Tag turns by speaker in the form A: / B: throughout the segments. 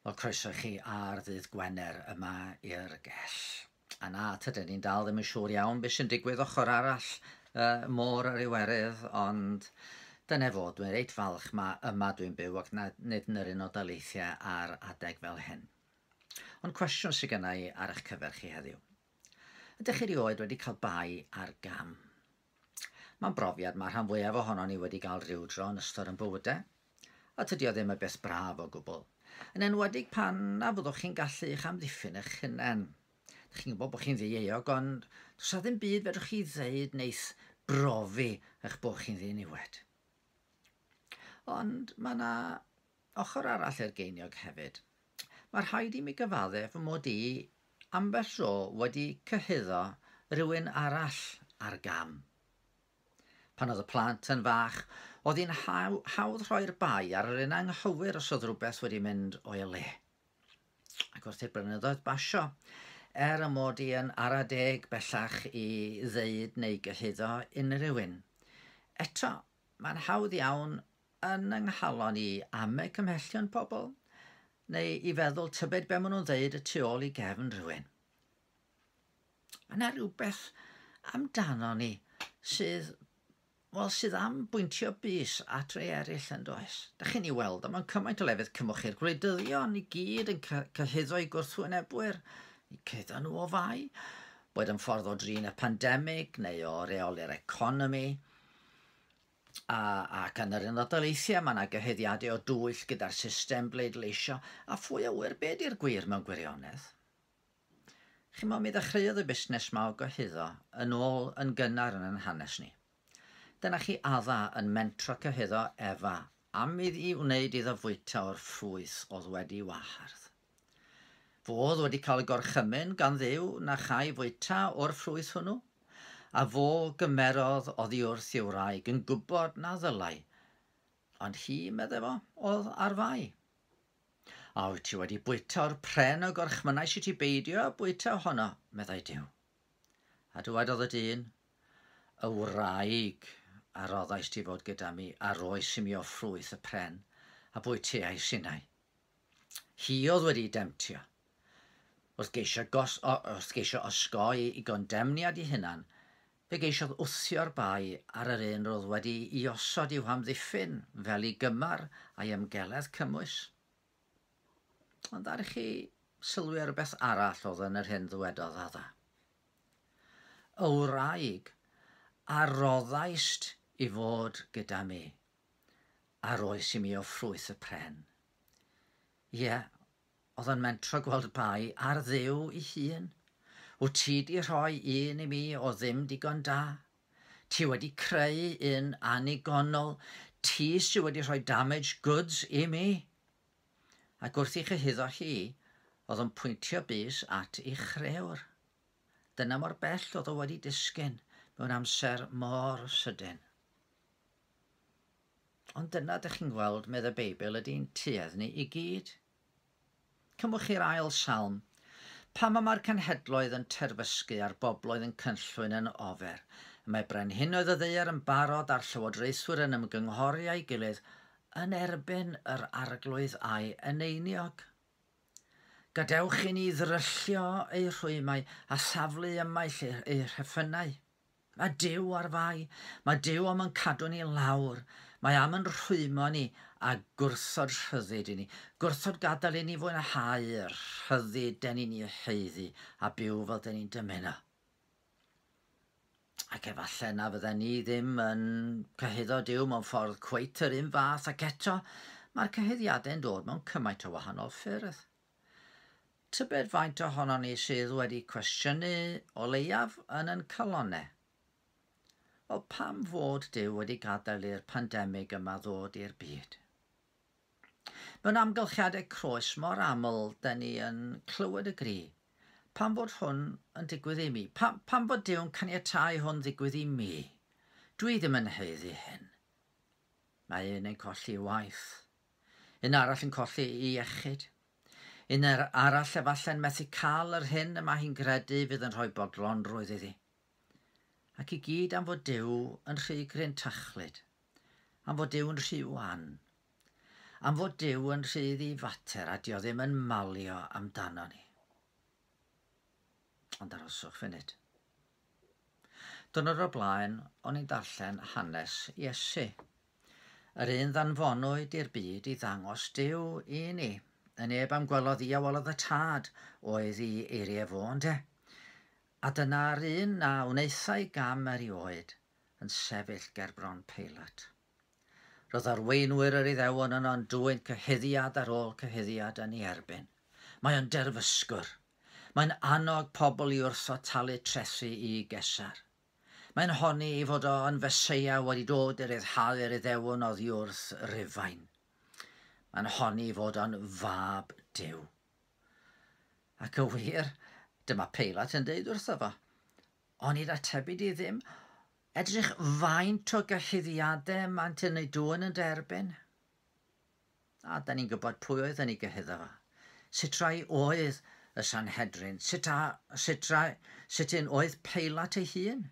A: Wel, croeso i chi ar ddydd Gwener yma i'r gell. A na, tydyn ni'n dal ddim yn siŵr iawn beth sy'n digwydd ochr arall môr yr Iwerydd, ond dyna fo, dwi'n reit falch ma yma dwi'n byw ac na, nid yn yr Unol Daleithiau ar adeg fel hyn. Ond cwestiwn sydd genna i ar eich cyfer chi heddiw. Ydych chi erioed wedi cael bai ar gam? Mae'n brofiad mae rhan fwyaf ohonon ni wedi cael rhyw dro yn ystod yn bywydau, a tydi o ddim y beth braf o gwbl. Yn enwedig pan na fyddwch chi'n gallu eich amddiffyn eich hunain. Dych chi'n gwybod bod chi'n ddieuog, ond does 'na ddim byd fedrwch chi ddeud neith brofi eich bod chi'n ddiniwed. Ond mae yna ochr arall i'r geiniog hefyd. Mae rhaid i mi gyfaddef fy mod i ambell dro wedi cyhuddo rhywun arall ar gam. Pan oedd y plant yn fach, oedd hi'n hawdd rhoi'r bai ar yr un anghywir os oedd rhywbeth wedi mynd o'i le. Ac wrth i'r blynyddoedd basio, er y mod i yn ara deg bellach i ddeud neu gyhuddo unrhyw un, eto, mae'n hawdd iawn yn yng nghalon i ame cymhellion pobl, neu i feddwl tybed be maen nhw'n ddeud y tu ôl i gefn rhywun. Mae yna rhywbeth amdano ni sydd, wel, sydd am bwyntio bys at rei eraill yn does. Da chi'n ei weld, a mewn cymaint o lefydd cymwch chi'r gwleidyddion i gyd yn cyhuddo eu gwrthwynebwyr, i cyhuddo nhw o fai, boed yn ffordd o drin y pandemig neu o reoli'r economi. A, ac yn yr Unol Daleithiau mae yna gyhuddiadau o dwyll gyda'r system bleidleisio, a phwy a ŵyr be di'r gwir mewn gwirionedd. Chimod, mi ddechreuodd y busnes 'ma o gyhuddo yn ôl yn gynnar yn 'yn hanes ni. Dyna chi Adda yn mentro cyhuddo Efa am iddi wneud iddo fwyta o'r ffrwyth oedd wedi wahardd. Fo oedd wedi cael y gorchymyn gan Dduw na chai fwyta o'r ffrwyth hwnnw, a fo gymerodd oddi wrth ei wraig yn gwybod na ddylai, ond hi, medde fo, oedd ar fai. A wyt ti wedi bwyta o'r pren y gorchmynnais i ti beidio â bwyta ohono? meddai Duw. A dywedodd y dyn, Y wraig a roddais ti fod gyda mi a roes i mi o ffrwyth y pren, a bwyteais innau. Hi oedd wedi demtio. Wrth geisio, gos, o, wrth geisio osgoi i gondemniad ei hunan, fe geisiodd wthio'r bai ar yr un roedd wedi i osod i'w hamddiffyn fel ei gymar a'i ymgeledd cymwys. Ond ddaru chi sylwi ar rywbeth arall oedd yn yr hyn ddywedodd Adda. Y wraig a roddaist i fod gyda mi, a roes i mi o ffrwyth y pren. Ie, oedd yn mentro gweld bai ar Dduw i hun. Wyt ti di rhoi un i mi o ddim digon da? Ti wedi creu un annigonol, ti sy wedi rhoi damaged goods i mi. Ac wrth i chyhuddo hi, oedd yn pwyntio bys at ei chrëwr. Dyna mor bell oedd o wedi disgyn mewn amser mor sydyn. Ond dyna dych chi'n gweld, medd y Beibl, ydy'n tuedd ni i gyd. Cymwch chi'r ail salm. Pam y mae'r cenhedloedd yn terfysgu a'r bobloedd yn cynllwyn yn ofer? Y mae brenhinoedd y ddaear yn barod a'r llywodraethwyr yn ymgynghori â'i gilydd yn erbyn yr Arglwydd a'i eneiniog. Gadewch i ni ddryllio eu rhwymau a thaflu ymaith eu rheffynnau. Mae Duw ar fai. Mae Duw am yn cadw ni lawr. Mae am yn rhwymo ni a gwrthod rhyddid i ni. Gwrthod gadael i ni fwynhau y rhyddid den ni'n ei haeddu a byw fel den ni'n dymuno. Ac efallai na fydden ni ddim yn cyhuddo Duw mewn ffordd cweit yr un fath ac eto mae'r cyhuddiadau'n dod mewn cymaint o wahanol ffyrdd. Tybed faint ohonon ni sydd wedi cwestiynu, o leiaf, yn yn calonnau? Wel, pam fod Duw wedi gadael i'r pandemig yma ddod i'r byd? Mewn amgylchiadau croes mor aml, dyn ni yn clywed y gri. Pam fod hwn yn digwydd i mi? Pam, pam fod Duw'n caniatáu hwn ddigwydd i mi? Dwi ddim yn haeddu hyn. Mae un yn colli waith. Un arall yn colli ei iechyd. Un arall efallai'n methu cael yr hyn y mae hi'n gredu fydd yn rhoi bodlonrwydd iddi. Ac i gyd am fod Duw yn rhy grintachlyd, am fod Duw yn rhy wan. Am fod Duw yn rhy ddifater a dio ddim yn malio amdano ni. Ond arhoswch funud. Diwrnod o'r blaen, o'n i'n darllen hanes Iesu. Yr un ddanfonwyd i'r byd i ddangos Duw i ni. Y neb am gwelodd i a welodd y Tad oedd i eiriau fo, ynde? A dyna'r un na wnaethai gam erioed yn sefyll ger bron Peilat. Roedd arweinwyr yr Iddewon yno'n dwyn cyhuddiad ar ôl cyhuddiad yn ei erbyn. Mae o'n derfysgwr. Mae'n annog pobl i wrthod talu trethi i Gesar. Mae'n honni ei fod o yn Feseia wedi dod i ryddhau'r Iddewon oddi wrth Rufain. Mae'n honni ei fod o'n fab Duw. Ac y wir, dyma Peilat yn deud wrtho fo, onid atebu di ddim, edrych faint o gyhuddiadau maent yn ei dwyn yn derbyn. A da ni'n gwybod pwy oedd yn ei gyhuddo fo. Sut rai oedd y Sanhedrin? Sut, a, sut, rai, sut un oedd Peilat ei hun?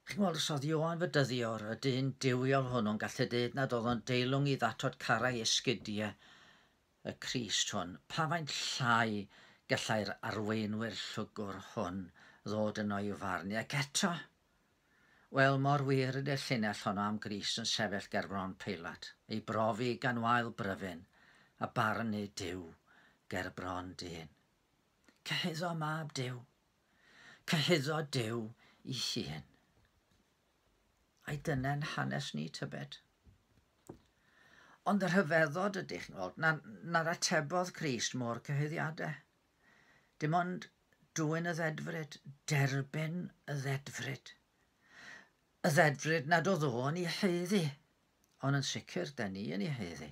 A: Chi'n gweld, os oedd Ioan Fedyddiwr, y dyn duwiol hwnnw'n gallu dweud nad oedd o'n deilwng i ddatod carau esgidiau y Crist hwn, pa faint llai gallai'r arweinwyr llwgwr hwn ddod yno i'w farnu? Ac eto, wel, mor wir ydy'r llinell honno am Grist yn sefyll ger bron Peilat, ei brofi gan wael bryfyn a barnu Duw ger bron dyn. Cyhuddo mab Duw. Cyhuddo Duw i hun. Ai dyna'n hanes ni, tybed? Ond y rhyfeddod ydych chi'n gweld, na'r atebodd Crist mor cyhuddiadau. Dim ond dwyn y ddedfryd, derbyn y ddedfryd. Y ddedfryd nad oedd o'n ei haeddu, ond yn sicr da ni yn ei haeddu.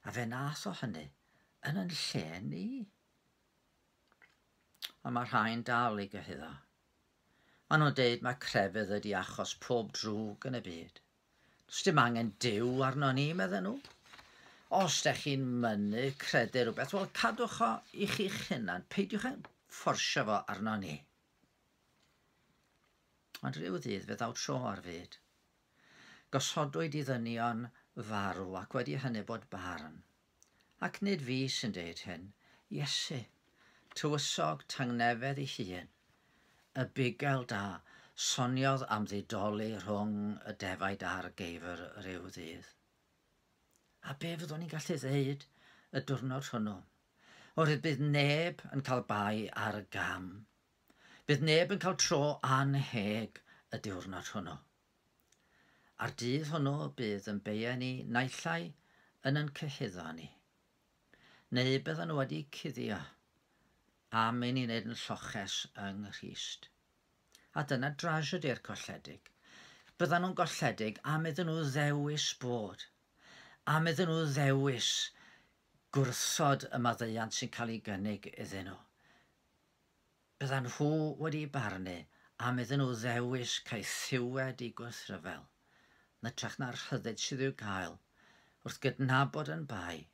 A: A fe nath o hynny yn yn lle ni. Ond mae rhai'n dal i gyhuddo. Maen nhw'n deud mae crefydd ydi achos pob drwg yn y byd. Does dim angen Duw arno ni, medden nhw. Os dech chi'n mynnu credu rhywbeth, wel, cadwch o i chi'ch hunan. Peidiwch â fforsio fo arno ni. Ond rhyw ddydd fe ddaw tro ar fyd. Gosodwyd i ddynion farw ac wedi hynny bod barn. Ac nid fi sy'n deud hyn, Iesu, tywysog tangnefedd ei hun, y bugail da, soniodd am ddidoli rhwng y defaid a'r geifr rhyw ddydd. A be fyddwn ni'n gallu ddeud y diwrnod hwnnw? Oherwydd bydd neb yn cael bai ar y gam. Bydd neb yn cael tro annheg y diwrnod hwnnw. A'r dydd hwnnw bydd yn beia ni naill ai yn yn cyhuddo ni, neu byddan nhw wedi cuddio am i ni wneud yn lloches yng Nghrist. A dyna drasiedi'r colledig. Byddan nhw'n golledig am iddyn nhw ddewis bod, am iddyn nhw ddewis gwrthod y maddeuant sy'n cael ei gynnig iddyn nhw. Byddan nhw wedi barnu am iddyn nhw ddewis caethiwed i gwrthryfel, yn hytrach na'r rhyddid sydd i'w gael wrth gydnabod yn bai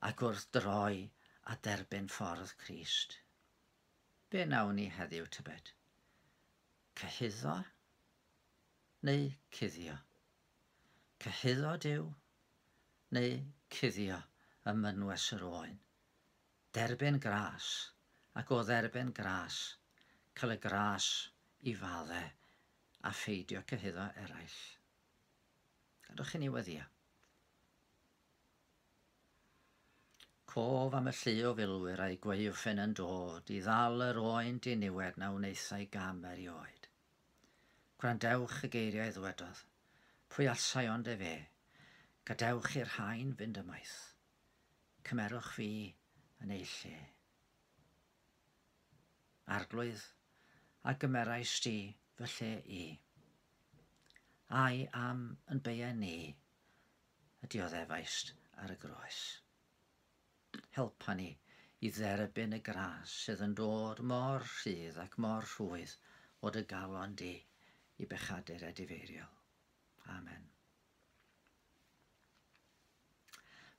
A: ac wrth droi a derbyn ffordd Crist. Be wnawn ni heddiw, tybed? Cyhuddo neu cuddio? Cyhuddo Duw neu cuddio ym mynwes yr oen? Derbyn gras, ac o dderbyn gras, cael y gras i fadde a pheidio cyhuddo eraill. Gadwch i ni weddio. Cof am y llu o filwyr a'i gwaywffyn yn dod i ddal yr oen diniwed na wnaethai gam erioed. Gwrandewch y geiriau ddwedodd, pwy allsai ond efe, gadewch i'r rhain fynd ymaith. Cymerwch fi yn ei lle. Arglwydd, a gymerais di fy lle i? Ai am yn beia ni y dioddefaist ar y groes? Helpa ni i dderbyn y gras sydd yn dod mor rhydd ac mor rhwydd o dy galon di i bechadur edifeiriol. Amen.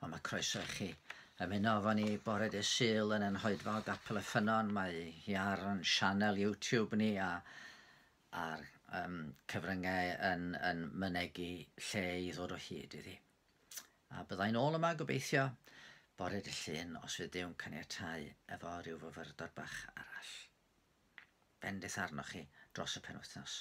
A: Wel, mae croeso i chi ymuno efo ni bore dydd Sul yn ein hoedfa o Gapel y Ffynnon. Mae hi ar yn sianel YouTube ni a a'r cyfryngau yn mynegi lle i ddod o hyd iddi. A byddai'n ôl yma gobeithio bore dy Llun os fydd Duw'n caniatáu efo rhyw fyfyrdod bach arall. Bendith arnoch chi dros y penwythnos.